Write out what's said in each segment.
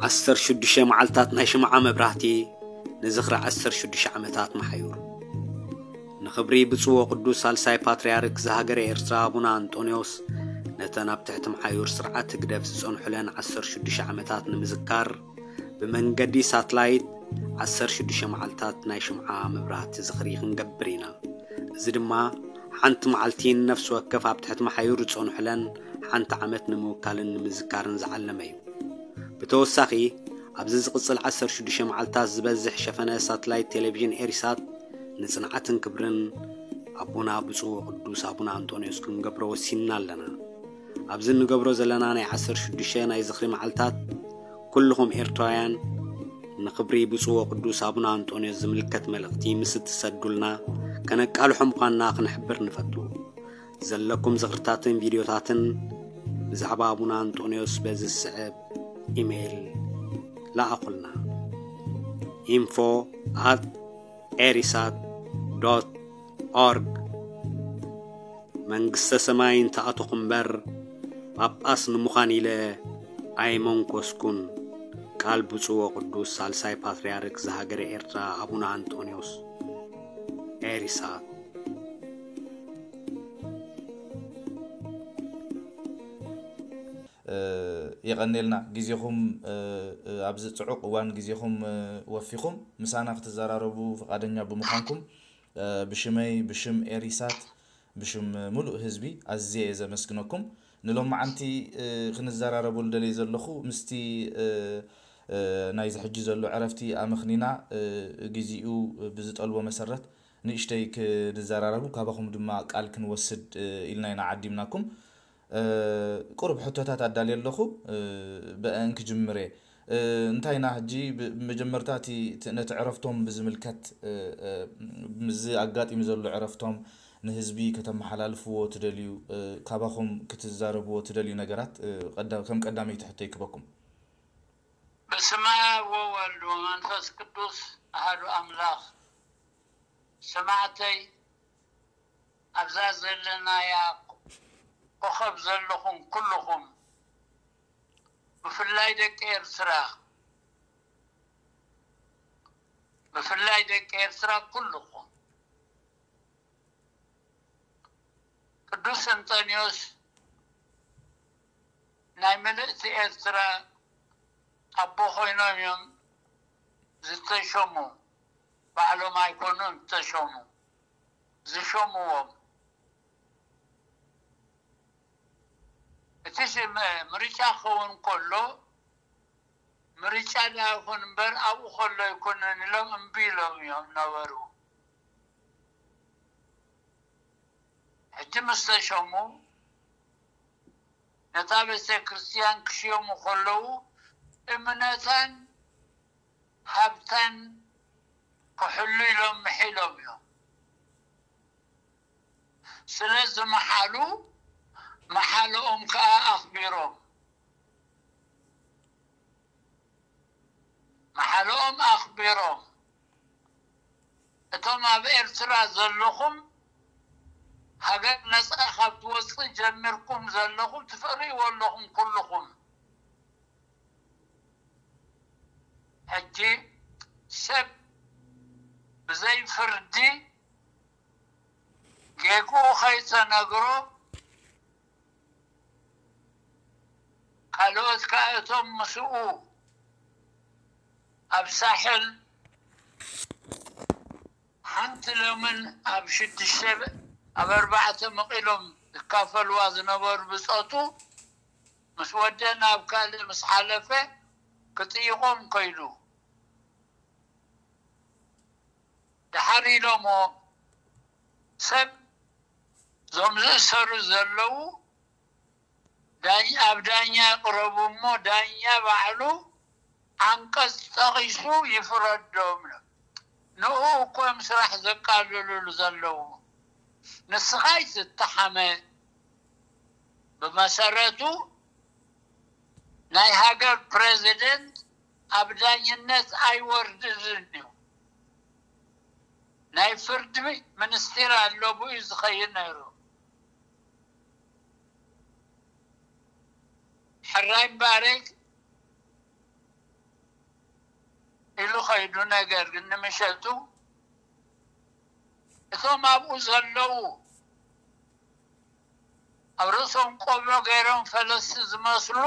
ዓሰርተ ሽዱሽተ መዓልታት ናይ ሽምዓ መብራህቲ ንዝኽሪ ዓሰርተ ሽዱሽተ ዓመታት መሓዩር። ንኽብሪ ብፁዕ ወቅዱስ ሳልሳይ ፓትርያርክ ዝሃገረ ኤርትራ ኣቡነ ኣንጦንዮስ፣ ነተን ኣብ ትሕቲ መሓዩር ስርዓት ህግደፍ ዝጸንሑለን ዓሰርተ ሽዱሽተ ዓመታት ንምዝካር፣ ብመንገዲ ሳትላይት ዓሰርተ ሽዱሽተ መዓልታት ናይ ሽምዓ መብራህቲ ዝኽሪ ክንገብር ኢና። እዚ ድማ ሓንቲ መዓልቲ ንነፍሲ ወከፍ ኣብ ትሕቲ መሓዩር ዝጸንሑለን ሓንቲ ዓመት ንምውካልን ንምዝካርን ዝዓለመ እዩ። ብተወሳኺ፣ ኣብዚ ዝቕጽል ዓሰርተ ሽዱሽተ መዓልታት ዝበዝሕ ሸፈነ ሳትላይት ቴሌቪዥን ኤሪሳት ንጽንዓትን ክብርን ኣቦና ብፁዕ ወቅዱስ ኣቡነ ኣንጦንዮስ ክንገብሮ ወሲንና ኣለና። ኣብዚ እንገብሮ ዘለና ናይ ዓሰርተ ሽዱሽተ ናይ ዝኽሪ መዓልታት፣ ኩልኹም ኤርትራውያን ንኽብሪ ብፁዕ ወቅዱስ ኣቡነ ኣንጦንዮስ ዝምልከት መልእኽቲ ምስ እትሰዱልና፣ ከነቃልሖ ምዃንና ክንሕብር ንፈቱ። ዘለኩም ዝኽርታትን ቪድዮታትን ብዛዕባ ኣቡነ ኣንጦንዮስ በዚ ዝስዕብ ኢሜይል ለኣኹልና። info at erisat dot org። መንግስተ ሰማይ እንተኣተኹ እምበር፣ ጳጳስ ንምዃን ኢለ ኣይመንኮስኩን። ቃል ብፁዕ ወቅዱስ ሳልሳይ ፓትርያርክ ዝሃገረ ኤርትራ ኣቡነ ኣንጦንዮስ። ኤሪሳት። እ፣ የቐኔልና ግዜኹም፣ እ፣ እ፣ ኣብዚ ጽዑቕ እዋን ግዜኹም፣ እ፣ ወፊኹም ምሳና ክትዘራረቡ ፍቓደኛ ብምዃንኩም፣ እ፣ ብሽመይ፣ ብሽም ኤሪሳት፣ ብሽም ምሉእ ህዝቢ ኣዝየ እየ ዘመስግነኩም። ንሎማዓንቲ፣ እ፣ ክንዘራረበሉ ደልየ ዘለኹ ምስቲ፣ እ፣ እ፣ ናይዚ ሕጂ ዘሎ ዕረፍቲ ኣመኽኒና፣ እ፣ ግዜኡ ብዝጠልቦ መሰረት ንእሽተይ ክንዘራረቡ ካባኹም ድማ ቃል ክንወስድ፣ እ፣ ኢልና ኢና ዓዲምናኩም። እ፣ ቁሩብ ሕቶታት ኣዳልየ ኣለኹ። እ፣ ብአን ክጅምር እየ። እ፣ እንታይና ሕጂ ብ-፣ ብመጀመርታ እቲ፣ እቲ ነቲ ዕረፍቶም ብዝምልከት፣ እ፣ እ፣ ምስዚ ኣጋጢሙ ዘሎ ዕረፍቶም ንህዝቢ ከተመሓላልፍዎ ትደልዩ፣ እ፣ ካባኹም ክትዛረብዎ ትደልዩ ነገራት፣ እ፣ ቀዳ-፣ ከም ቀዳመይቲ ሕቶ ይክበኩም። በስመ አብ ወወልድ ወመንፈስ ቅዱስ አሐዱ አምላክ። ሰማዕተይ፣ ኣብዛ ዘለናያ ኮኸብ ዘለኹም ኩልኹም፣ ብፍላይ ደቂ ኤርትራ፣ ብፍላይ ደቂ ኤርትራ ኩልኹም፣ ቅዱስ እንጠንዮስ ናይ ምልእቲ ኤርትራ ኣቦ ኮይኖም እዮም ዝተሸሙ። ባዕሎም ኣይኮኑን ዝተሸሙ፣ ዝሸምዎም። እቲ ሽም ምርጫ ክኸውን ከሎ፣ ምርጫ ደኣ ይኹን እምበር ኣብኡ ከሎ ኣይኮነን ኢሎም እምቢ ኢሎም እዮም ነበሩ። ሕጂ ምስ ተሸሙ፣ ነታ ቤተ ክርስቲያን ክሽየሙ ከለዉ እምነታን ሃብታን ክሕሉ ኢሎም ምሒሎም እዮም። ስለ ዝመሓሉ፣ መሓልኦም ከኣ ኣኽቢሮም። መሓልኦም ኣኽቢሮም። እቶም ኣብ ኤርትራ ዘለኹም፣ ሃገር ነጻ ካብ ትወጽእ ጀሚርኩም ዘለኹም ትርእይዎ ኣለኹም ኩልኹም። ሕጂ ሰብ ብዘይ ፍርዲ ጌግኡ ከይተነግሮ፣ ካልኦት ከኣ እቶም ምስኡ ኣብ ሳሕል ሓንቲ ለምን ኣብ ሽዱሽተ ኣብ ኣርባዕተ መቒሎም ዝካፈሉዋ ዝነበሩ ብጾቱ፣ ምስ ወደ ናብ ካልእ ምስ ሓለፈ ክጥይቖም ከይዱ። ደሓር ኢሎሞ፣ ሰብ እዞም ዝእሰሩ ዘለዉ ዳኝ-፣ ኣብ ዳኛ ይቕረቡ እሞ ዳኛ ባዕሉ ዓንቀጽ ጠቒሱ ይፍረዶም። ንኡ እኮ እዮም ስራሕ ዘቃልሉሉ ዘለዉ። ንስኻ ኣይትተሓመ። ብመሰረቱ ናይ ሃገር ፕረዚደንት ኣብ ዳኝነት ኣይወርድን እዩ። ናይ ፍርዲ ሚኒስቴር ኣሎ፣ ብኡ እዩ ዝኸይድ ነይሩ። ሕራይ እምበኣረይ ኢሉ ኸይዱ። ነገር ግን ንምሸቱ እቶም ኣብኡ ዘለዉ ኣብ ርእሶም ቆብዕ ገይሮም ፈለስቲ ዝመስሉ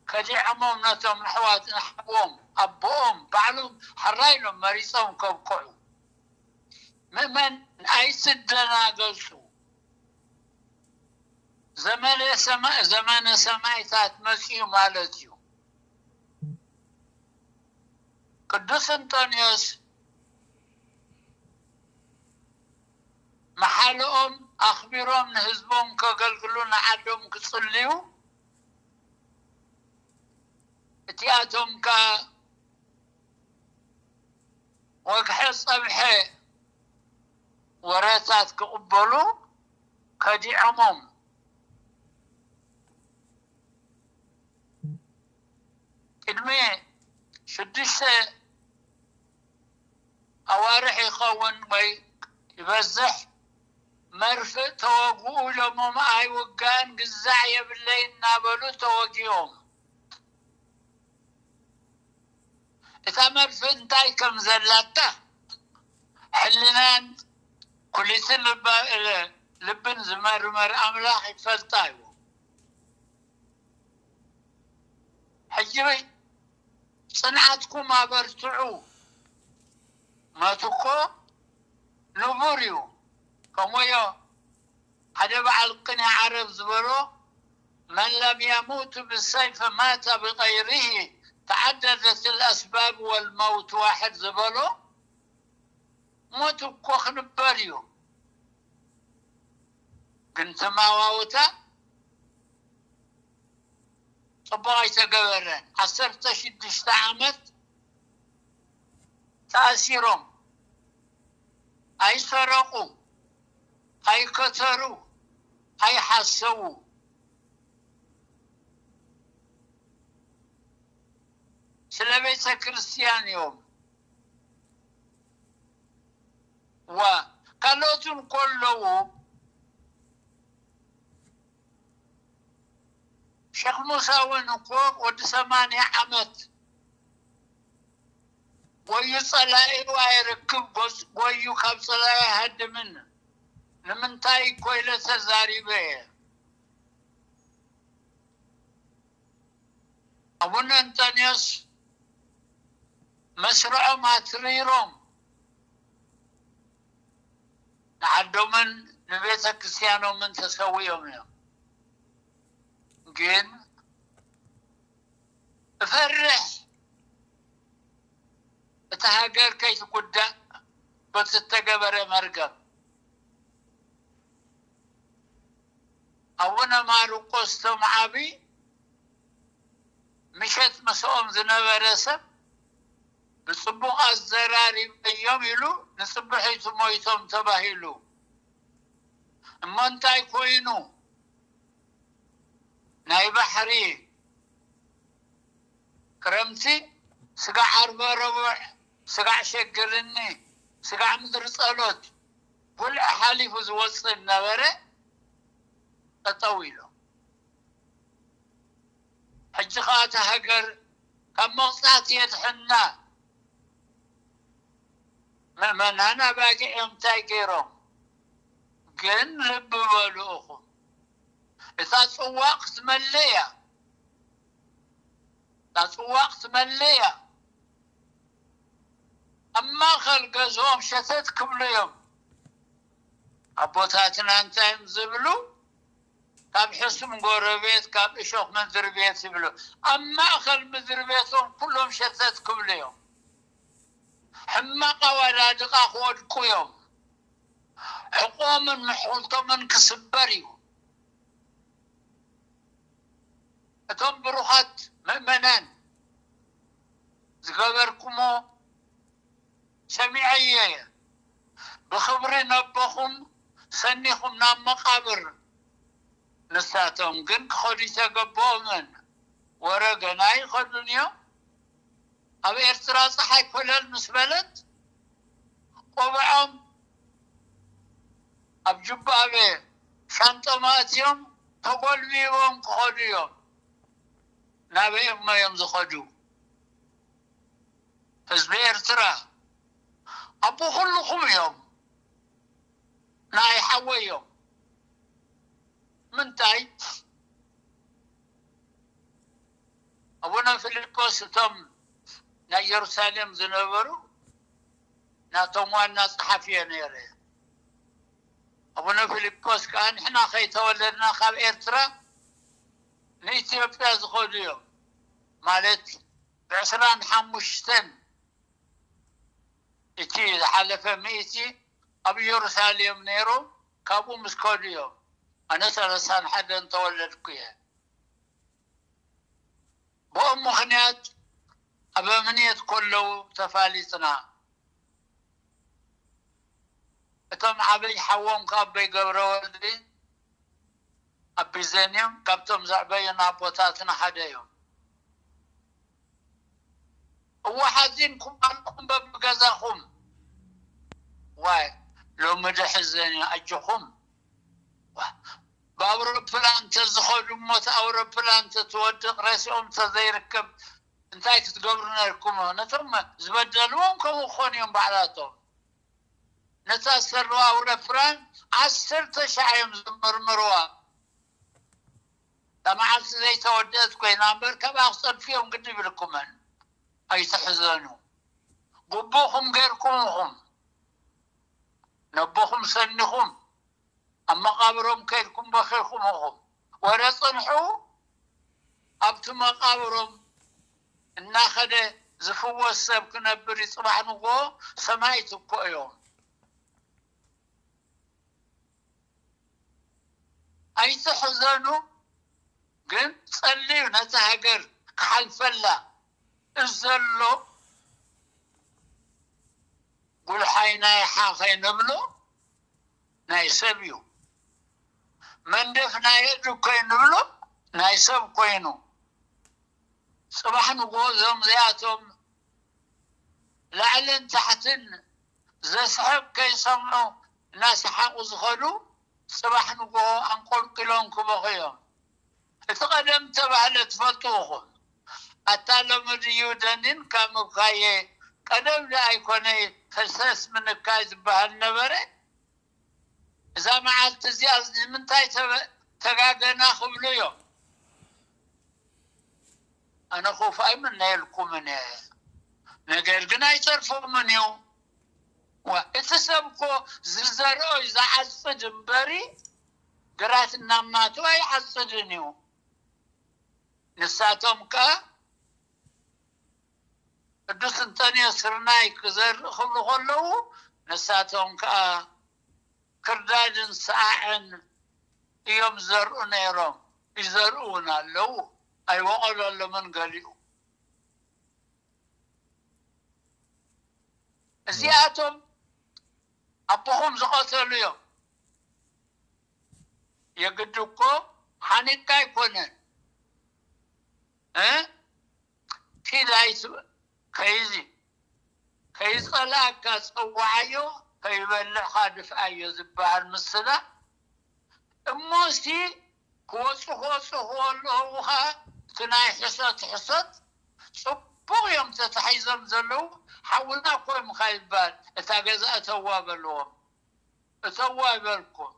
ከዲዖሞም ነቶም ኣሕዋት ንሓዎም ኣቦኦም ባዕሎም ሕራይ ኢሎም መሪጾም ከብቅዑ። ምእመን ኣይትደናገጹ። ዘመነ ሰማ- ዘመነ ሰማይታት መጺኡ ማለት እዩ። ቅዱስ እንጦንዮስ መሓልኦም ኣኽቢሮም ንህዝቦም ከገልግሉ ንዓዶም ክጽልዩ እቲኣቶም ከ ወግሐ ጸብሐ ወረታት ክቕበሉ ከዲዖሞም። ቅድሚ ሽዱሽተ ኣዋርሕ ይኸውን ወይ ይበዝሕ መርፍእ ተወግኡ ኢሎሞም ኣይውጋእን ግዛዕ የብለይ እናበሉ ተወጊኦም። እታ መርፍእ እንታይ ከም ዘላታ ሕልናን ኩሊትን ልባ- ልብን ዝመርመር ኣምላኽ ይፈልጣ እዩ። ሕጂ ጽንዓትኩም ኣበርትዑ። መት እኮ ንቡር እዩ። ከምኡዮ ሓደ በዓል ቅኔ ዓረብ ዝበሎ መን ለም የሙት ብሰይፍ ማተ ብቀይሪሂ ተዓደደት ልኣስባብ ወልመውት ዋሕድ ዝበሎ ሞት እኮ ክንበር እዩ። ግን ትማዋውታ ጽቡቕ ኣይተገበረን። ዓሰርተ ሽዱሽተ ዓመት ተኣሲሮም ኣይሰረቑ፣ ኣይከተሩ፣ ኣይሓሰዉ። ስለ ቤተ ክርስቲያን እዮም። ዋ ካልኦትን ከለዉ ሸክ ሙሳ እውን እኮ ወዲ ሰማንያ ዓመት ጎዩ ጸላኢኡ ኣይርክብ ጎዩ ካብ ጸላኢ ኣይሃድምን ንምንታይ እኮ ኢለ ተዛሪበ እየ። ኣቡነ እንጠንዮስ መስርዖም ኣትሪሮም ንዓዶምን ንቤተ ክርስቲያኖምን ተሰዊኦም እዮም። ግን እፈርሕ እታ ሃገር ከይትጉዳእ በቲ ዝተገበረ መርገም ኣቡነ ማርቆስ ቶም ዓቢ ምሸት ምስኦም ዝነበረ ሰብ ብጽቡቕ ኣዘራሪበዮም ኢሉ ንጽብሒቱ ሞይቶም ተባሂሉ። እሞ እንታይ ኮይኑ ናይ ባሕሪ ክረምቲ ስጋዕ ዓርበ ረቡዕ ስጋዕ ሸግርኒ ስጋዕ ምድሪ ጸሎት ጉልዒ ሓሊፉ ዝወጽእ ነበረ ጠጠው ኢሉ። ሕጂ ከዓ እታ ሃገር ካብ መቕፃዕቲ የድሕና። ምእመናን ኣባጊዕ እዮም እንታይ ገይሮም? ግን ልቢ በሉ እኹም እታ ፅዋ ክትመልእ እያ። እታ ፅዋ ክትመልእ እያ። ኣብ ማእኸል ገዝኦም ሸተት ክብሉ እዮም ኣቦታትና እንታይ እዮም ዝብሉ? ካብ ሕሱም ጎረቤት ካብ እሾኽ ምድሪ ቤት ይብሉ። ኣብ ማእኸል ምድሪ ቤቶም ኩሎም ሸተት ክብሉ እዮም። ሕማቕ ኣዋዳድቓ ክወድቁ እዮም። ሕቆምን ምሕውልቶምን ክስበር እዩ። እቶም ብሩኻት ምእመናን ዝገበርኩሞ ሰሚዐዮ እየ። ብኽብሪ ነቦኹም ሰኒኹም ናብ መቓብር። ንሳቶም ግን ክኸዱ ይተገበኦምን ወረ ገና ይኸዱን እዮም። ኣብ ኤርትራ ፀሓይ ኮለል ምስ በለት ቆብዖም ኣብ ጁባበ ሻንጦም ኣእትዮም ተጎልቢቦም ክኸዱ እዮም። ናበይ እሞ እዮም ዝኸዱ? ህዝቢ ኤርትራ ኣቦ ኩልኹም እዮም፣ ናይ ሓወይ እዮም። ምንታይ? ኣቡነ ፊልጶስ እቶም ናይ ኢየሩሳሌም ዝነበሩ ናቶም ዋና ጸሓፊ እየ ነይረ። ኣቡነ ፊልጶስ ከዓ ንሕና ከይተወለድና ካብ ኤርትራ ንኢትዮጵያ ዝኸዱ እዮም። ማለት ብዕስራን ሓሙሽተን እቲ ዝሓለፈ ሚእቲ ኣብ ኢየሩሳሌም ነይሮም፣ ካብኡ ምስ ከዱ እዮም። ኣነ ሰላሳን ሓደን ተወለድኩ እየ። ብኦም ምኽንያት ኣብ ኣምንየት ከለዉ ተፋሊጥና። እቶም ዓብይ ሓዎም ካብ ኣቦይ ገብረወልዲ ኣብ ቢዘን እዮም። ካብቶም ዘዕበዩና ኣቦታትና ሓደ እዮም። እወ ሓዚንኩም ኣለኹም በብገዛኹም። ዋይ ሎሚ ደሕዘን እዩ ኣጆኹም። ዋ፣ ብኣውሮፕላን ተዝኸዱ እሞ እቲ ኣውሮፕላን ተትወድቕ ሬስኦም ተዘይርከብ እንታይ ክትገብሩ ነርኩም? ነቶም ዝበደልዎም ከምኡ ክኾኑ እዮም ባዕላቶም። ነታ ዝሰርዋ ኣውሮፕላን ዓሰርተ ሻዕ እዮም ዝምርምርዋ። እታ መዓልቲ ዘይተወደአት ኮይና እምበር ካብኣ ክጸድፉ እዮም ግዲ ይብልኩመን። ኣይትሕዘኑ። ግቡእኹም ገይርኩም ኢኹም። ነቦኹም ሰኒኹም ኣብ መቓብሮም ከይድኩም በኺኹም ኢኹም። ወረ ጽንሑ ኣብቲ መቓብሮም እናኸደ ዝፍወስ ሰብ ክነብር እዩ። ጽባሕ ንጎ ሰማይት እኮ እዮም። ኣይትሕዘኑ፣ ግን ጸልዩ ነቲ ሃገር ክሓልፈላ። እዚ ዘሎ ጉልሓይ ናይ ሓኸይ ንብሎ ናይ ሰብ እዩ። መንደፍ ናይ እዱ ኮይኑ ንብሎ ናይ ሰብ ኮይኑ። ጽባሕ ንጎ እዞም እዚኣቶም ላዕልን ታሕትን ዘስሕቕ ከይሰምዑ እናሰሓቑ ዝኸዱ ጽባሕ ንጎ ኣንቆልቂሎም ክበኹ እዮም። እቲ ቀደም ተባህለ ትፈልጡ ኢኹም። ኣታ ሎሚ ድዩ ደኒን ካብ ምብካየ ቀደም ዶ ኣይኮነይ ፈሰስ ምንካይ ዝበሃል ነበረ? እዛ መዓልቲ እዚኣ ንምንታይ ተበ- ተጋገና ክብሉ እዮም። ኣነ ክፉእ ኣይምነየልኩምን እየ፣ ነገር ግን ኣይጸርፎምን እዩ። ዋ፣ እቲ ሰብ እኮ ዝዘርኦ እዩ ዝዓጽድ እምበሪ ግራት እናማቱ ኣይዓጽድን እዩ። ንሳቶም ከኣ ቅዱስ እንጠንዮስ ስርናይ ክዘርእ ክብሉ ከለዉ ንሳቶም ከኣ ክርዳድን ሰዓዕን እዮም ዝዘርኡ ነይሮም። ይዘርኡ እውን ኣለዉ። ኣይወቐለሎምን ገሊኡ። እዚኣቶም ኣቦኹም ዝቐተሉ እዮም። የግድ እኮ ሓኒቅካ ኣይኮነን እ ኪድ ኣይትበል። ከይዚ ከይጸላእካ ጸዋዓዮ፣ ከይበልዕካ ድፍኣዮ ዝበሃል ምስላ እሞሲ ክወፁ ክወፁ ከለዉ ከዓ እቲ ናይ ሕሰት ሕሰት ፅቡቕ እዮም ተታሒዞም ዘለዉ። ሓውና እኮ እዮም ከይባል እታ ገዛ እተዋ በልዎም። እተዋ ይበልኩም።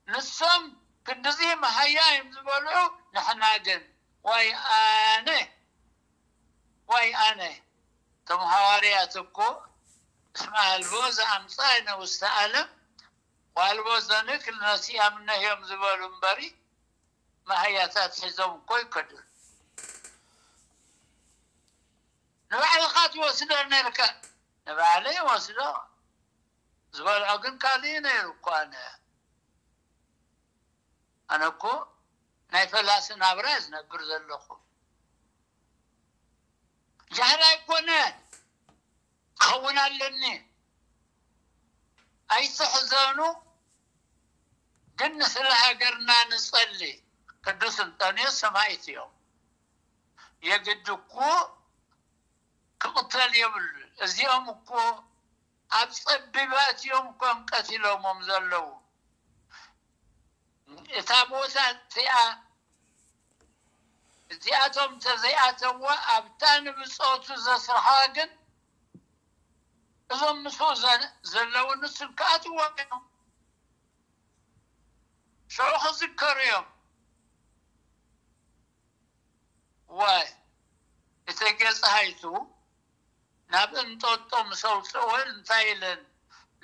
ንሶም ክንድዚ መሃያ እዮም ዝበልዑ። ንሕና ግን ዋይ ኣነ ዋይ ኣነ እቶም ሃዋርያት እኮ እስመ ኣልቦ ዘኣምፃ ንውስተ ዓለም ዋልቦ ዘንክል ነሲኣምነ እዮም ዝበሉ እምበሪ መሃያታት ሒዞም እኮ ይከዱ። ንባዕልኻ ትወስዶ ነርካ። ንባዕለይ ወስዶ ዝበልዖ ግን ካልእ ነይሩ እኮ። ኣነ ኣነ እኮ ናይ ፈላሲ ናብራ ዝነብር ዘለኹ። ጃህላ ኣይኮነ ክኸውን ኣለኒ። ኣይትሕዘኑ፣ ግን ስለ ሃገርና ንጸሊ። ቅዱስ እንጠንዮስ ሰማይት እዮም። የግድ እኮ ክቕተል የብሉ። እዚኦም እኮ ኣብ ጸቢባት እዮም እኮም ቀቲሎሞም ዘለዉ። እታ ቦታ እቲኣ እዚኣቶም ተዘይኣተዎ ኣብታ ንብጾቱ ዘስርሓ ግን እዞም ምስኡ ዘለዉ ንሱ ክኣትዎ እዮም። ሽዑ ክዝከሩ እዮም። ዋይ እተጌ ፀሃይቱ ናብ እንጦጦ ምስ ኣውፅእወን እንታይ ኢለን?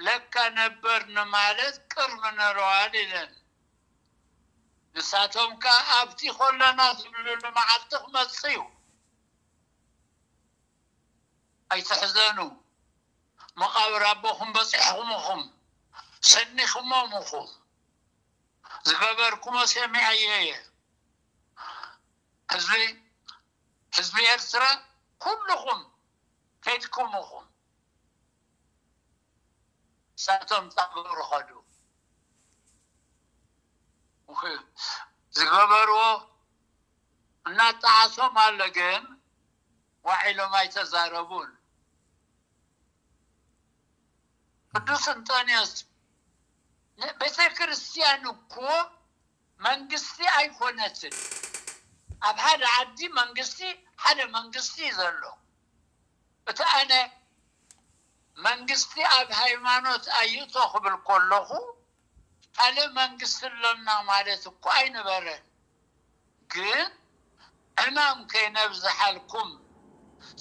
ለካ ነበር ንማለት ቅርብ ነረዋል ኢለን። ንሳቶም ከኣ ኣብቲ ኮለና ዝብልሉ መዓልቲ ክመጽእ እዩ። ኣይትሕዘኑ፣ መቓብር ኣቦኹም በጺሕኹም ኢኹም፣ ሰኒኹሞም ኢኹም። ዝገበርኩሞ ሰሚዐዮ እየ። ህዝቢ ህዝቢ ኤርትራ ኩልኹም ከይድኩም ኢኹም። ንሳቶም ጣብሩ ኸዱ። ዝገበርዎ እናጠዓሶም ኣሎ፣ ግን ዋዒሎም ኣይተዛረቡን። ቅዱስ እንጦንዮስ ቤተ ክርስቲያን እኮ መንግስቲ ኣይኮነትን። ኣብ ሓደ ዓዲ መንግስቲ ሓደ መንግስቲ እዩ ዘሎ። እቲ ኣነ መንግስቲ ኣብ ሃይማኖት ኣይእቶ ክብል ከለኹ ካልእ መንግስቲ ኣሎና ማለት እኮ ኣይነበረን። ግን ዕማም ከይነብዝሓልኩም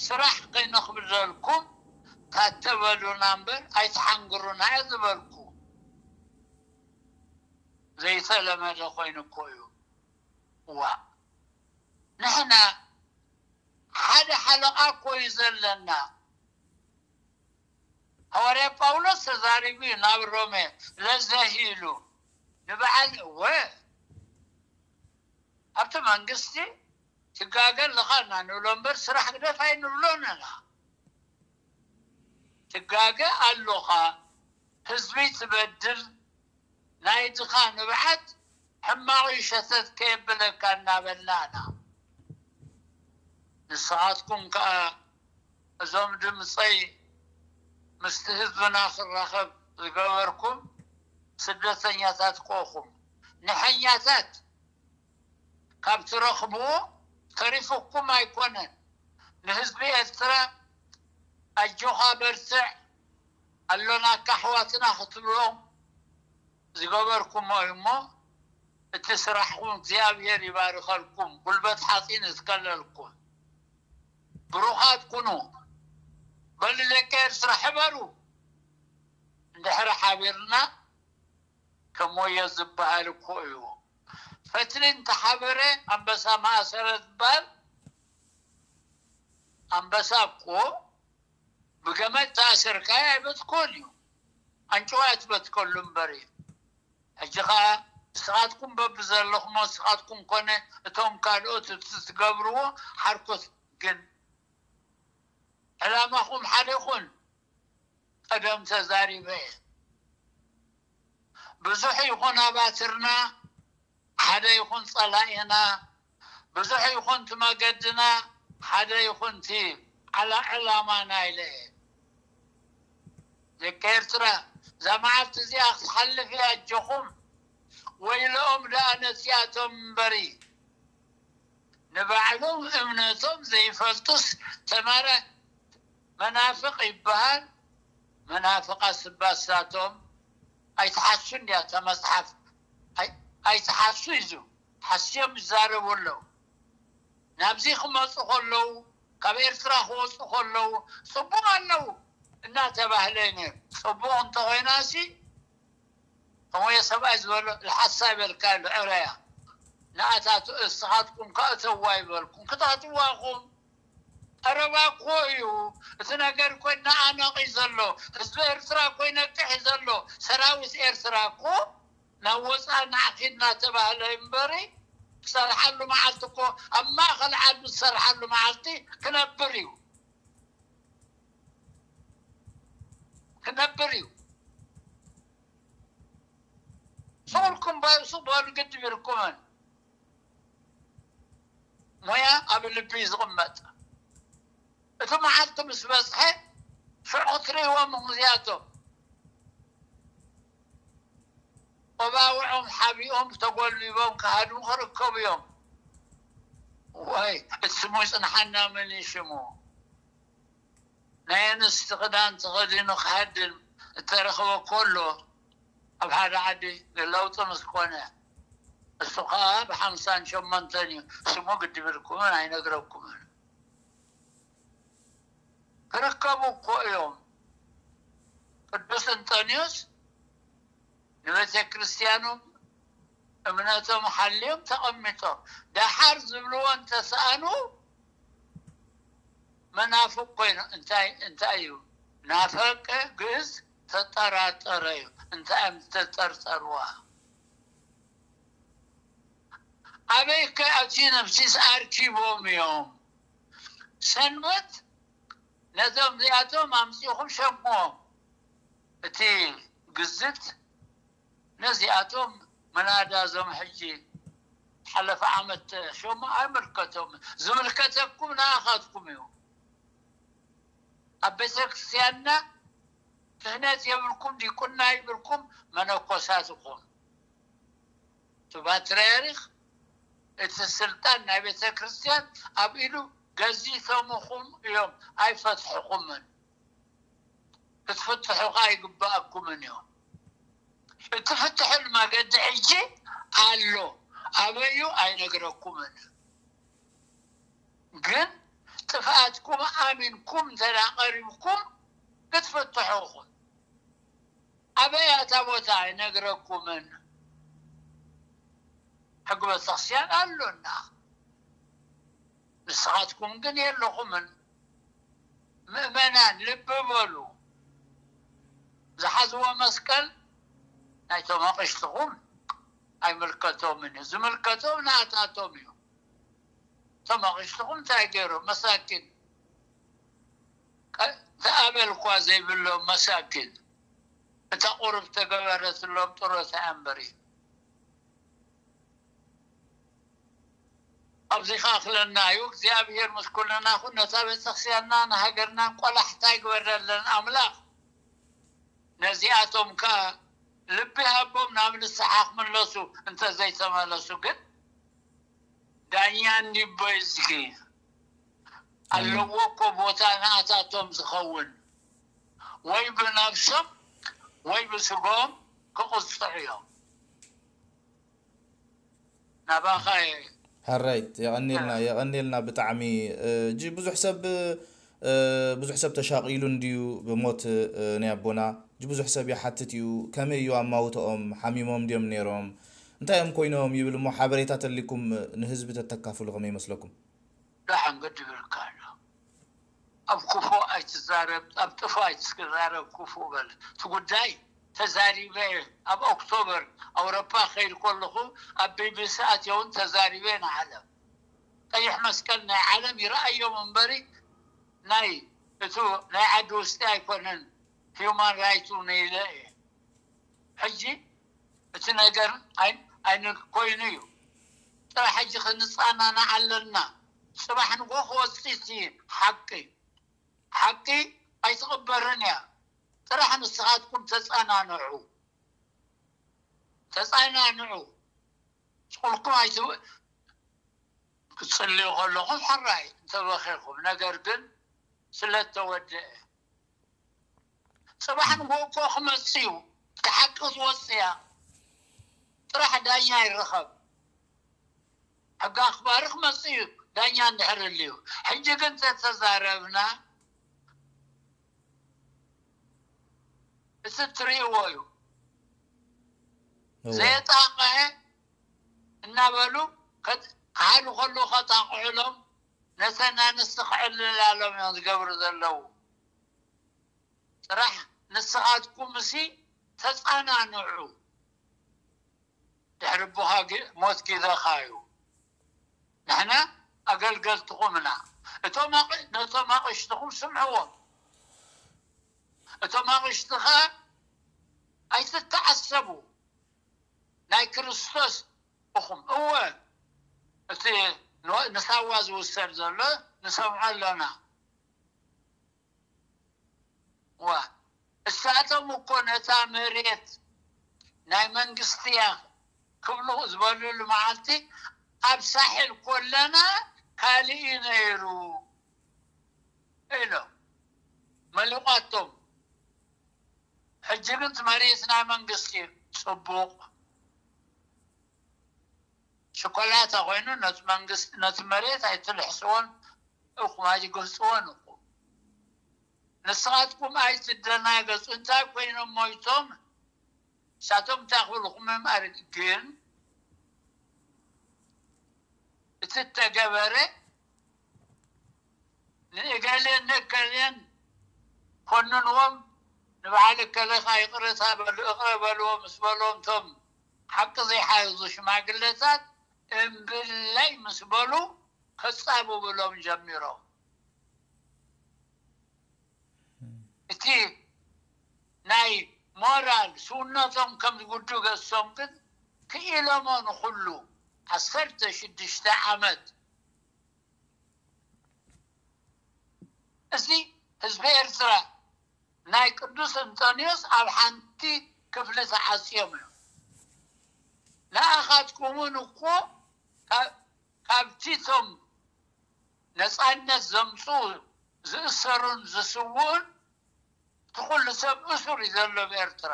ስራሕ ከይነኽብደልኩም ታተበሉና እምበር ኣይትሓንግሩና እየ ዝበልኩ። ዘይተለመደ ኮይኑ እኮ እዩ። ዋ ንሕና ሓደ ሓለቓ እኮ እዩ ዘለና። ሃዋርያ ጳውሎስ ተዛሪቡ እዩ ናብ ሮሜ ለዘሂ ኢሉ ንበዓል እወ ኣብቲ መንግስቲ ትጋገ ኣለኻ እና ንብሎ እምበር ስራሕ ግደፍ ኣይንብሎን ኢና። ትጋገ ኣሎኻ ህዝቢ ትበድል ናይ ድኻ ንብዓት ሕማቑ ሸተት ከየብለካ እናበልና ኢና። ንስኻትኩም ከኣ እዞም ድምፀይ ምስቲ ህዝብና ክራኸብ ዝገበርኩም ስደተኛታት ኮኹም ንሐኛታት ካብ ትረኽብዎ ተሪፉኩም ኣይኮነን። ንህዝቢ ኤርትራ ኣጆኻ በርትዕ ኣሎናካ ኣሕዋትና ክትብሎም ዝገበርኩሞ እዩ እሞ እቲ ስራሕኩም እግዚኣብሔር ይባርከልኩም፣ ጉልበት ሓፂን ይትከለልኩም። ብሩኻት ኩኑ። በሉ ደቂ ኤርትራ ሕበሩ። እንድሕሪ ሓቢርና ከም ወዮ ዝበሃል እኮ እዩ። ፈትሊ እንተሓበረ ኣንበሳ ማእሰረ ዝበሃል ኣንበሳ እኮ ብገመድ ተኣሰርካዮ ኣይበትኮን እዩ። ኣንጭዋ ትበትከሉ እምበር እዩ። ሕጂ ኸዓ ንስኻትኩም በብዘለኹሞ ንስኻትኩም ኮነ እቶም ካልኦት እቲ ትገብርዎ ሓርኮት ግን ዕላማኹም ሓደ ይኹን። ቀደም ተዛሪበ እየ። ብዙሕ ይኹን ኣባትርና ሓደ ይኹን ጸላኢና ብዙሕ ይኹን እቲ መገድና ሓደ ይኹን እቲ ዓላ ዕላማና ኢለ እየ። ደቂ ኤርትራ እዛ መዓልቲ እዚኣ ክትሓልፍ እያ ኣጆኹም። ወይለኦም ደኣ ነዚኣቶም እምበሪ ንባዕሎም እምነቶም ዘይፈልጡስ ተማረ መናፍቕ ይበሃል። መናፍቓት ስባሳቶም ኣይትሓሱ እንዲያ እታ መጽሓፍ ኣይትሓሱ እዩ። ሓስዮም ይዛረቡ ኣለዉ። ናብዚ ክመፁ ከለዉ ካብ ኤርትራ ክወፁ ከለዉ ፅቡቕ ኣለዉ እናተባህለ እዩ ነይሩ። ፅቡቕ እንተኾይናሲ ከመየ ሰብኣይ ዝበሎ ልሓሳ ይበልካ ኣሎ ዕረያ ንኣታቱ እስኻትኩም ከእተዋ ይበልኩም ክታትዋኹም ቀረባ እኮ እዩ። እቲ ነገር እኮ ይነቓነቕ እዩ ዘሎ። ህዝቢ ኤርትራ እኮ ይነቅሕ እዩ ዘሎ። ሰራዊት ኤርትራ እኮ ናብ ወፃኢ ንዓኺድ እናተባህለ እምበሪ ክሰርሓሉ መዓልቲ እኮ ኣብ ማእኸል ዓዱ ዝሰርሓሉ መዓልቲ ክነብር እዩ። ክነብር እዩ። ስቕ ኢልኩም በሱ በሉ ግድብ ኢልኩምን ሞያ ኣብ ልቢ እዩ ዝቕመጥ። እቲ መዓልቲ ምስ በፅሐ ሽዑ ክትርእይዎም እዚኣቶም ቆባውዖም ሓቢኦም ተጎልቢቦም ክሃድሙ ክርከቡ እዮም። ወይ እቲ ስሙ ይጽንሓና፣ መን እዩ ሽሙ? ናይ ኣንስቲ ክዳን ተኸዲኑ ክሃድም እተረኽበ ከሎ፣ ኣብ ሓደ ዓዲ ለውጢ ምስ ኮነ፣ እሱ ኸዓ ብሓምሳን ሸሞንተን እዩ። ስሙ ግዲ ብልኩምን ኣይነግረኩምን። ክርከቡ እኮ እዮም። ቅዱስ እንጠንዮስ ንቤተ ክርስቲያኖም እምነቶም ሓልዮም ተቐሚጦም፣ ደሓር ዝብልዎ እንተሰኣኑ መናፍቅ ኮይኑ። እንታይ እንታይ እዩ? ናፈቀ ግእዝ ተጠራጠረ እዩ። እንታይ እዮም ዝተጠርጠርዋ? ኣበይ ከ ኣብቲ ነፍሲስ ኣርኪቦም እዮም? ሰንበት ነቶም እዚኣቶም ኣምጺኹም ሸምዎም። እቲ ግዝት ነዚኣቶም መናዳ፣ እዞም ሕጂ ሓለፈ ዓመት ሸሙ ኣይምልከቶም። ዝምልከተኩም ንኣኻትኩም እዩ። ኣብ ቤተ ክርስቲያንና ክህነት የብልኩም፣ ዲቁና ይብልኩም፣ መነኮሳት ኢኹም። እቲ ፓትርያርክ እቲ ስልጣን ናይ ቤተ ክርስቲያን ኣብ ኢዱ ገዚቶምኹም እዮም፣ ኣይፈትሕኹምን። ክትፍትሑ ኸዓ ኣይግባኣኩምን እዮም። እትፍትሑሉ መገዲ ሕጂ ኣሎ፣ ኣበዩ ኣይነግረኩምን። ግን ጥፍኣትኩም ኣሚንኩም እንተ ደኣ ቀሪብኩም ክትፍትሑ ኢኹም። ኣበይ እታ ቦታ ኣይነግረኩምን። ሕጊ ቤተክርስትያን ኣሎና፣ ንስኻትኩም ግን የለኹምን። ምእመናን ልቢ በሉ። ዝሓዝዎ መስቀል ናይቶም ኣቕሽትኹም ኣይምልከቶምን እዩ። ዝምልከቶም ናታቶም እዩ። እቶም ኣቕሽትኹም እንታይ ገይሮም? መሳኪን። ቀ-፣ እቲ ኣበል እኳ ዘይብሎም መሳኪን። እታ ቁሩብ ተገበረትሎም ጥሮታ እያ እምበሪ። ኣብዚ ከኣኽለና እዩ። እግዚኣብሔር ምስ ኩልና ኩን። ነታ ቤተክርስትያንና ንሃገርናን ቆላሕታ ይግበረለን ኣምላኽ። ነዚኣቶም ከኣ ልቢ ሃቦም ናብ ንስሓ ክምለሱ፣ እንተ ዘይተመለሱ ግን ዳኛ እንዲቦይ እዝጊ ኣለዎ እኮ ቦታ ንኣታቶም ዝኸውን። ወይ ብነብሶም ወይ ብስጎም ክቕጽዑ እዮም። ናባኻ እየ። ሕራይት፣ የቐንየልና፣ የቐንየልና ብጣዕሚ። እ፣ እጂ ብዙሕ ሰብ፣ እ፣ ብዙሕ ሰብ ተሻቒሉ እንድዩ ብሞት፣ እ፣ ናይ ኣቦና። እጂ ብዙሕ ሰብ ይሓትት እዩ፣ ከመይ እዩ ኣማውትኦም? ሓሚሞም ድዮም ነይሮም? እንታይ እዮም ኮይኖም ይብል እሞ፣ ሓበሬታ ተሊኩም ንህዝቢ ተተካፍሉ ከመይ ይመስለኩም? ደሓን ገዲብልካ ኣሎ። ኣብ ክፉ ኣይትዛረብ፣ ኣብ ጥፉ ኣይትዛረብ፣ ክፉ በል። እቲ ጉዳይ ተዛሪበ፣ ኣብ ኦክቶበር ኣውሮፓ ከይድ ከለኹ ኣብ ቢቢሲ ኣትየውን ተዛሪበ ንዓለም። ቀይሕ መስቀል ናይ ዓለም ይረኣዮም እምበሪ ናይ እቱ ናይ ዓዲ ውሽጢ ኣይኮነን። ሂውማን ራይት እውን ኢለ እየ። ሕጂ እቲ ነገር ኣይ-፣ ኣይነ-፣ ኮይኑ እዩ። ጥራሕ ሕጂ ክንጸናናዕ ኣለና። ጽባሕ ንጎ ክወጽእ እቲ ሓቂ። ሓቂ ኣይትቕበርን እያ። ጥራሕ ንስኻትኩም ተጸናንዑ። ተጸናንዑ። ስቑልኩም ኣይትው-፣ ክትጽልዩ ከለኹም ሕራይ እንተበኺኹም፣ ነገር ግን ስለ እተወደአ። ጽባሕ ንግሆ እኮ ክመጽእ እዩ። እቲ ሓቂ ክትወጽእ እያ። ጥራሕ ዳኛ ይረኸብ። ሕጊ ኣኽባሪ ክመጽእ እዩ፣ ዳኛ እንድሕር ህልዩ። ሕጂ ግን ተተዛረብና፣ እቲ እትርእይዎ እዩ። እወ። ዘየጣቕዐ እናበሉ ከት-፣ ክሓዱ ከለዉ ከጣቕዑሎም፣ ነተን ኣንስቲ ክዕልላሎም እዮም ዝገብሩ ዘለዉ። ጥራሕ ንስኻትኩምሲ ተጸናንዑ። ድሕሪ ኣቦኻ ግ-፣ ሞት ጊዘኻ እዩ። ንሕና ኣገልገልትኹም ኢና። እቶም ኣቕ-፣ ነቶም ኣቕሽትኹም ስምዕዎም። እቶም ኣቕሽቲ ኸኣ ኣይትተዓሰቡ። ናይ ክርስቶስ ኢኹም። እወ፣ እቲ ን-፣ ንሳዋ ዝውሰድ ዘሎ ንሰምዖ ኣሎና። ዋ፣ እሳቶም እኮ ነታ መሬት ናይ መንግስቲ እያ ክብሉ ዝበልሉ መዓልቲ ኣብ ሳሕል ኮለና ካልእ እዩ ነይሩ ኢሎም መሊቋቶም። ሕጂ ግን እቲ መሬት ናይ መንግስቲ እዩ። ጽቡቕ ሽኮላታ ኮይኑ ነቲ መንግስቲ፣ ነቲ መሬት ኣይትልሕስዎን እኹም፣ ኣይትግህጽዎን እኹም። ንስኻትኩም ኣይትደናገጹ። እንታይ ኮይኖም ሞይቶም? ንሳቶም እንታይ ክብልኹም እምበር፣ ግን እቲ እተገበረ ንእገሌን ንእከሌን ኮንንዎም፣ ንበዓል እከለ ኸኣ ይቕረታ በሉ፣ ይቕረ በልዎ ምስ በልዎም፣ እቶም ሓቂ ዘይሓዙ ሽማግለታት እምብለይ ምስ በሉ፣ ከጻብብሎም ጀሚሮም። እቲ ናይ ሞራል ስውነቶም ከም ዝጉዱ ገሶም ግን ክኢሎሞ ንኹሉ ዓሰርተ ሽዱሽተ ዓመት። እዚ ህዝቢ ኤርትራ ናይ ቅዱስ እንጠንዮስ ኣብ ሓንቲ ክፍሊ ተዓጽዮም እዮም። ንኣኻትኩምን እኮ ካብ፣ ካብቲ እቶም ነጻነት ዘምጽኡ ዝእሰሩን ዝስውኡን እቲ ኩሉ ሰብ እሱር እዩ ዘሎ ኣብ ኤርትራ።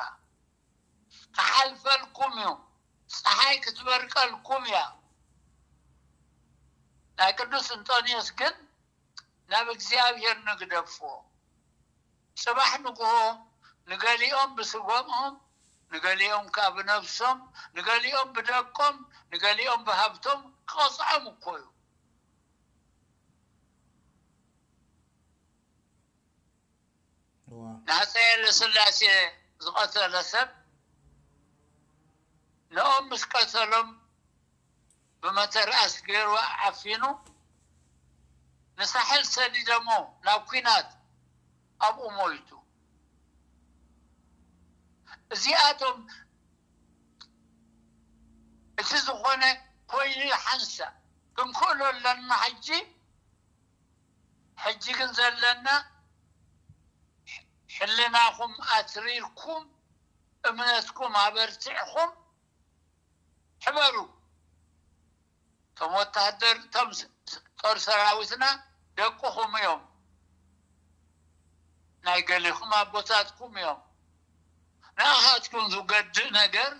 ክሓልፈልኩም እዩ። ጸሓይ ክትበርቀልኩም እያ። ናይ ቅዱስ እንጦንዮስ ግን ናብ እግዚኣብሔር ንግደፎ። ጽባሕ ንግሆ ንገሊኦም ብስጎምኦም፣ ንገሊኦም ከኣ ብነብሶም፣ ንገሊኦም ብደቆም፣ ንገሊኦም ብሃብቶም ክቐጽዖም እኮ እዩ። ንሃፀይ ኃይለስላሴ ዝቐተለ ሰብ ንኦም ምስ ቀተሎም ብመተርኣስ ገይሩ ዓፊኑ ንሳሕል ሰዲደሞ ናብ ኲናት ኣብኡ ሞይቱ። እዚኣቶም እቲ ዝኾነ ኮይኑ ሓንሳ ክንክእሎ ኣለና። ሕጂ ሕጂ ግን ዘለና ሕልናኹም ኣትሪርኩም እምነትኩም ኣበርቲዕኹም ሕበሩ። እቶም ወታደር እቶም ጦር ሰራዊትና ደቅኹም እዮም፣ ናይ ገሊኹም ኣቦታትኩም እዮም። ንኣኻትኩም ዝገድእ ነገር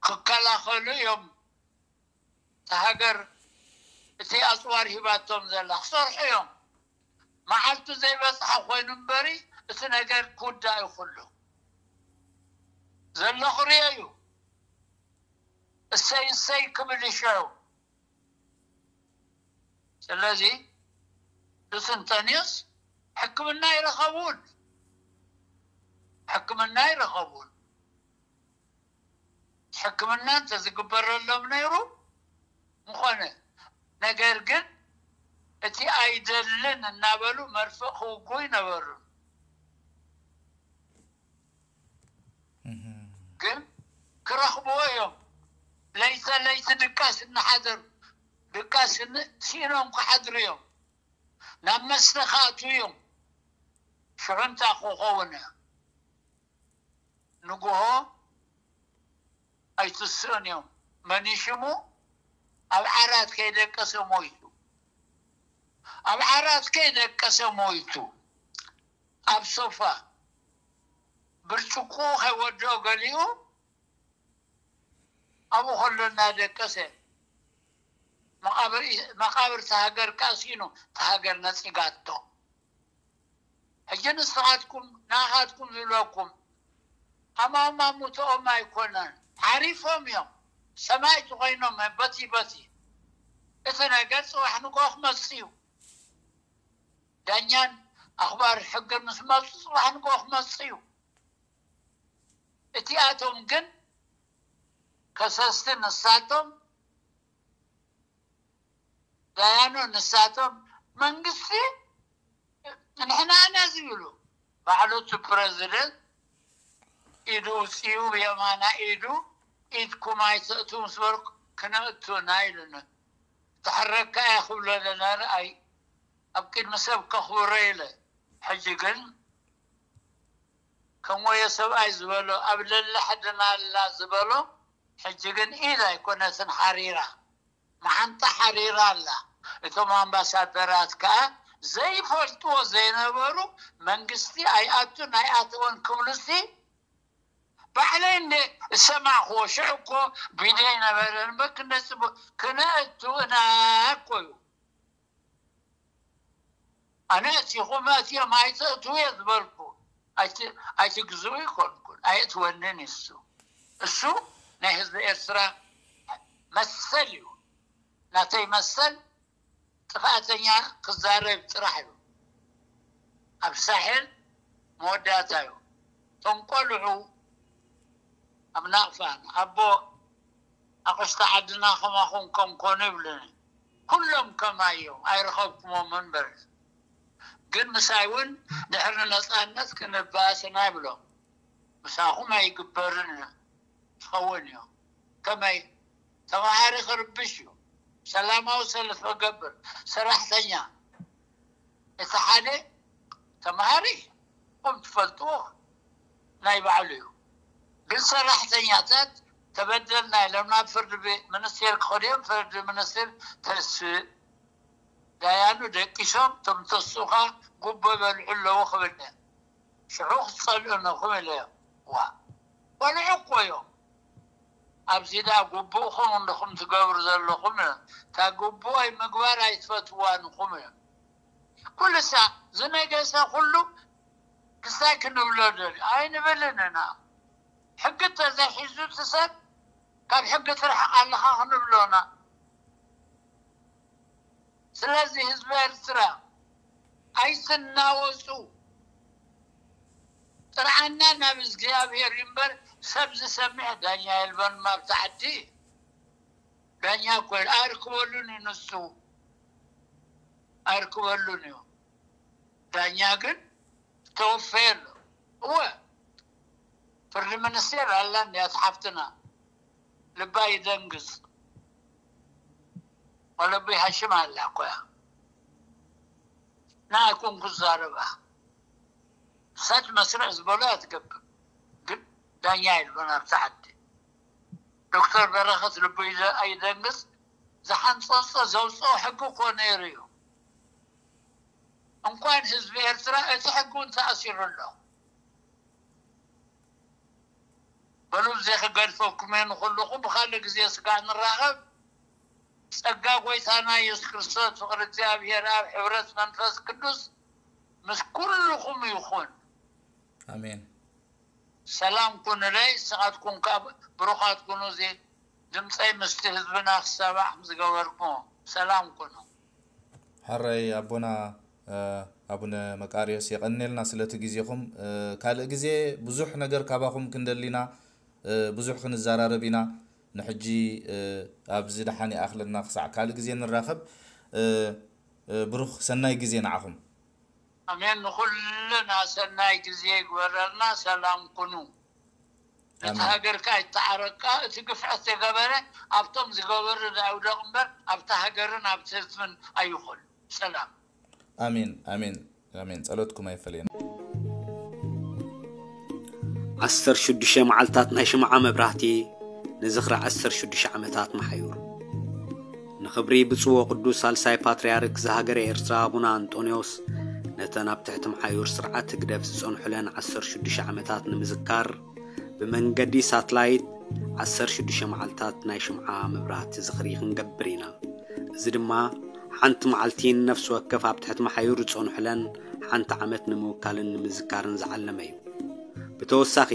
ክከላኸሉ እዮም። እታ ሃገር እቲ ኣፅዋር ሂባቶም ዘላ ክሰርሑ እዮም። መዓልቱ ዘይበፅሐ ኮይኑ እምበሪ እቲ ነገር ክውዳእ እዩ። ኩሉ ዘሎ ክሪኦ እዩ። እሰይ እሰይ ክብል ይሻዩ። ስለዚ ሉስንጠኒዮስ ሕክምና ይረኸቡን ሕክምና ይረኸቡን ሕክምና እንተዝግበረሎም ነይሩ ምኾነ። ነገር ግን እቲ ኣይደልን እናበሉ መርፍእ ክውጉ ይነበሩ። ግን ክረኽብዎ እዮም። ለይተ ለይቲ ድቃስ እናሓደሩ ድቃስ ስኢኖም ክሓድሩ እዮም። ናብ መስተ ክኣትዉ እዮም። ሽዑ እንታይ ክኸውን እያ? ንግሆ ኣይትስእን እዮም። መን ሽሙ ኣብ ዓራት ከይደቀሰ ሞይቱ። ኣብ ዓራት ከይደቀሰ ሞይቱ። ኣብ ሶፋ ብርጭቆ ከይወድኦ ገሊኡ ኣብኡ ከሎ እናደቀሰ መቃብር ተሃገር ካሲኑ ተሃገር ነፂጋቶ። ሕጂ ንስኻትኩም ንኣኻትኩም ዝብለኩም ኣማማ ሙቶኦም ኣይኮነን፣ ዓሪፎም እዮም። ሰማይ ዝኾይኖም በቲ በቲ እቲ ነገር ፅባሕ ንጎ ክመፅ እዩ። ዳኛን ኣኽባር ሕግን ምስ መፁ ፅባሕ ንጎ ክመፅ እዩ። እቲኣቶም ግን ከሰስቲ ንሳቶም፣ ዳያኑ ንሳቶም፣ መንግስቲ ንሕና ኢና ዝብሉ። ባዕሉ እቲ ፕረዚደንት ኢዱ ውፅኡ ብየማና ኢዱ ኢድኩም ኣይተእቱ ምስ በልኩ ክነእቱ ኢና ኢሉኒ። ተሕረካ እየ ክብሎ ለና ረኣይ ኣብ ቅድሚ ሰብ ከኽብሮ ኢለ። ሕጂ ግን ከም ወዮ ሰብኣይ ዝበሎ ኣብ ለለ ሕድና ኣላ ዝበሎ ሕጂ ግን ኢድ ኣይኮነትን ሓሪራ መዓንጣ ሓሪራ ኣላ። እቶም ኣምባሳደራት ከዓ ዘይፈልጥዎ ዘይነበሩ፣ መንግስቲ ኣይኣቱን ኣይኣተወን ክብሉሲ፣ ባዕለይ እንደ እሰማዕክዎ። ሽዑ እኮ ቪድዮ ኣይነበረን። በክ እንደ ፅቡቅ ክነእቱ ኢና እኮ እዩ። ኣነ እቲኹም እቲኦም ኣይተእትዉ እየ ዝበልኩ። ኣይት-፣ ኣይትግዝኡ ይኮንኩን፣ ኣየእትወንን እሱ። እሱ ናይ ህዝቢ ኤርትራ መሰል እዩ። ናተይ መሰል ጥፍኣተኛ ክዛረብ ጥራሕ እዩ። ኣብ ሳሕል መወዳእታ እዩ። እቶም ቆልዑ ኣብ ናቕፋን ኣቦ ኣቕሽቲ ዓድና ከማኹም ከም ኮኑ ይብሉኒ። ኩሎም ከማይ እዮም፣ ኣይረኸብኩሞም እምበር። ግን ምሳይ እውን ድሕሪ ነፃነት ክንባእስና ይብሎም። ምሳኹም ኣይግበርን እዩ፣ ትኸውን እዩ። ከመይ? ተምሃሪ ክርብሽ እዩ። ሰላማዊ ሰልፊ ክገብር፣ ሰራሕተኛ። እቲ ሓደ ተምሃሪ፣ ኹም ትፈልጥዎ፣ ናይ ባዕሉ እዩ። ግን ሰራሕተኛታት ተበደልና ኢሎም ናብ ፍርዲ ቤት ሚኒስቴር ክኸዱ እዮም። ፍርዲ ሚኒስቴር ተስእ ዳያኑ ደቂሶም፣ እቶም ተስኡኻ ጉቦ ይበልዑ ኣለዉ ክብል እየ። ሽዑ ክትጸልኡ ኣለኹም ኢለ እየ። ዋ፣ ቆልዑ እኮ እዮም። ኣብዚ ደኣ ግቡእኹም እንድኹም ትገብሩ ዘለኹም፣ እታ ግቡእ ምግባር ኣይትፈትዋን ኢኹም እዮም። ኩሉ ሳዕ ዝነገሰ ኩሉ ክሳይ ክንብሎ ደልዩ ኣይንብልን ኢና። ሕጊ ተዘይሒዙ እቲ ሰብ ካብ ሕጊ ትርሕቕ ኣለኻ ክንብሎና። ስለዚ ህዝቢ ኤርትራ ኣይትናወጹ። ጥርዓና ናብ እግዚኣብሔር እዩ እምበር ሰብ ዝሰምዕ ዳኛ የልበን ኣብቲ ዓዲ። ዳኛ እኮ ኣርክበሉን እዩ ንሱ። ኣርክበሉን እዩ። ዳኛ ግን ተወፈየ ኣሎ። እወ፣ ፍርዲ ሚኒስቴር ኣላ እንድያ፣ እቲ ሓፍትና ልባ ይደንግጽ። ወለቢ ሃሽም ኣላ እኮ እያ። ንኣይ ኮንኩ ዝዛረባ። እሳ መስርዕ ዝበሎ እያ ትገብር። ግን ዳኛ የልቦን ኣብቲ ዓዲ። ዶክተር በረኸት ልቡ ይደ-፣ ኣይደንግጽ። ዝሓንጸጾ ዘውጽኦ ሕጊ እኮ ነይሩ እዩ። እንኳን ህዝቢ ኤርትራ፣ እቲ ሕጊ እውን ተኣሲሩ ኣሎ። በሉ፣ እዚ ክገድፈኩም እየ ንኹልኹም። ብኻልእ ግዜ ስጋ ንራኸብ። ጸጋ ጎይታና ኢየሱስ ክርስቶስ፣ ፍቕሪ እግዚኣብሔር ኣብ፣ ሕብረት መንፈስ ቅዱስ ምስ ኩልኹም ይኹን። ኣሜን። ሰላም ኩኑለይ፣ ንስኻትኩም ከኣ ብሩኻት ኩኑ። እዚ ድምፀይ ምስቲ ህዝብና ክሰማዕ ዝገበርኩሞ፣ ሰላም ኩኑ። ሕራይ ኣቦና፣ እ፣ ኣቡነ መቃርዮስ፣ የቐንየልና ስለቲ ግዜኹም። እ፣ ካልእ ግዜ ብዙሕ ነገር ካባኹም ክንደሊ ኢና፣ እ፣ ብዙሕ ክንዘራረብ ኢና። ንሕጂ፣ እ፣ ኣብዚ ደሓን ይኣኽለና፣ ክሳዕ ካልእ ግዜ ንራኸብ። እ፣ እ፣ ብሩኽ ሰናይ ግዜ ንዓኹም። ኣሜን። ንኹልና ሰናይ ግዜ ይግበረልና። ሰላም ኩኑ። ነቲ ኣሜን። ሃገርካ ይተዓረቃ። እቲ ግፍዐት ዝገበረ ኣብቶም ዝገበሩ ኣይውደቕ እምበር ኣብቲ ሃገርን ኣብቲ ህዝብን ኣይኹን። ሰላም። ኣሜን፣ ኣሜን፣ ኣሜን። ጸሎትኩም ኣይፈለየና። ዓሰርተ ሽዱሽተ መዓልታት ናይ ሽምዓ መብራህቲ ንዝኽሪ ዓሰርተ ሽዱሽተ ዓመታት መሓዩር። ንኽብሪ ብፁዕ ወቅዱስ ሳልሳይ ፓትርያርክ ዝሃገረ ኤርትራ ኣቡነ ኣንጦንዮስ፣ ነተን ኣብ ትሕቲ መሓዩር ስርዓት ህግደፍ ዝጸንሑለን ዓሰርተ ሽዱሽተ ዓመታት ንምዝካር፣ ብመንገዲ ሳትላይት ዓሰርተ ሽዱሽተ መዓልታት ናይ ሽምዓ መብራህቲ ዝኽሪ ክንገብር ኢና። እዚ ድማ ሓንቲ መዓልቲ ንነፍሲ ወከፍ ኣብ ትሕቲ መሓዩር ዝጸንሑለን ሓንቲ ዓመት ንምውካልን ንምዝካርን ዝዓለመ እዩ። ብተወሳኺ፣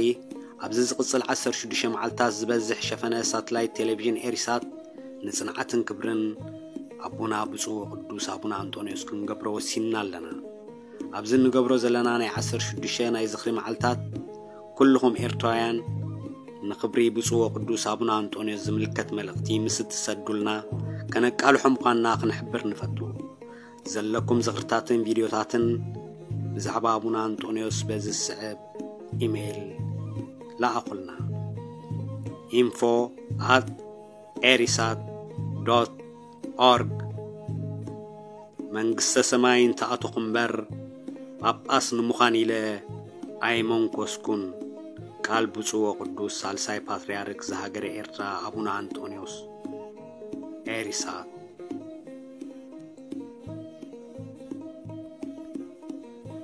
ኣብዚ ዝቕጽል ዓሰርተ ሽዱሽተ መዓልታት ዝበዝሕ ሸፈነ ሳትላይት ቴሌቪዥን ኤሪሳት ንጽንዓትን ክብርን ኣቦና ብፁዕ ወቅዱስ ኣቡነ ኣንጦንዮስ ክንገብሮ ወሲንና ኣለና። ኣብዚ እንገብሮ ዘለና ናይ ዓሰርተ ሽዱሽተ ናይ ዝኽሪ መዓልታት፣ ኩልኹም ኤርትራውያን ንኽብሪ ብፁዕ ወቅዱስ ኣቡነ ኣንጦንዮስ ዝምልከት መልእኽቲ ምስ እትሰዱልና፣ ከነቃልሖ ምዃንና ክንሕብር ንፈቱ። ዘለኩም ዝኽርታትን ቪድዮታትን ብዛዕባ ኣቡነ ኣንጦንዮስ በዚ ዝስዕብ ኢሜይል ለኣኹልና። ኢንፎ ኣት ኤሪሳት ዶት ኦርግ። መንግስተ ሰማይ እንተኣተኹ እምበር፣ ጳጳስ ንምዃን ኢለ ኣይመንኮስኩን። ቃል ብፁዕ ወቅዱስ ሳልሳይ ፓትርያርክ ዝሃገረ ኤርትራ ኣቡነ ኣንጦንዮስ። ኤሪሳት።